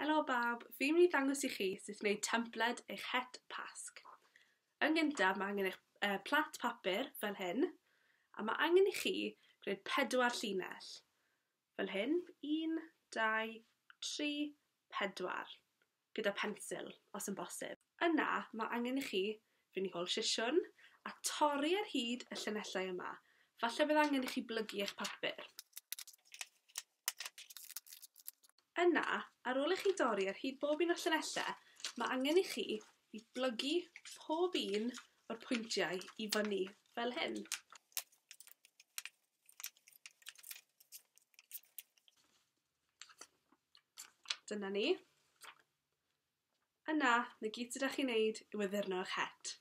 Helo bawb, fi'n mynd i ddangos i chi sut i wneud templed eich het Pasg. Yn gyntaf, mae angen eich plat papur fel hyn, a mae angen i chi gwneud 4 llinell. Fel hyn, 1, 2, 3, 4, gyda pensil, os yn bosib. Yna, mae angen i chi fynd i hôl sisiwn a torri ar hyd y llinellau yma. Falle bydd angen i chi blygu eich papur. Yna, ar ôl i chi dorri ar hyd bob un o'r llinellau, mae angen i chi i blygu pob un o'r pwyntiau i fyny, fel hyn. Dyna ni. Yna, na gyd sydd â chi'n neud yw addurno eich het.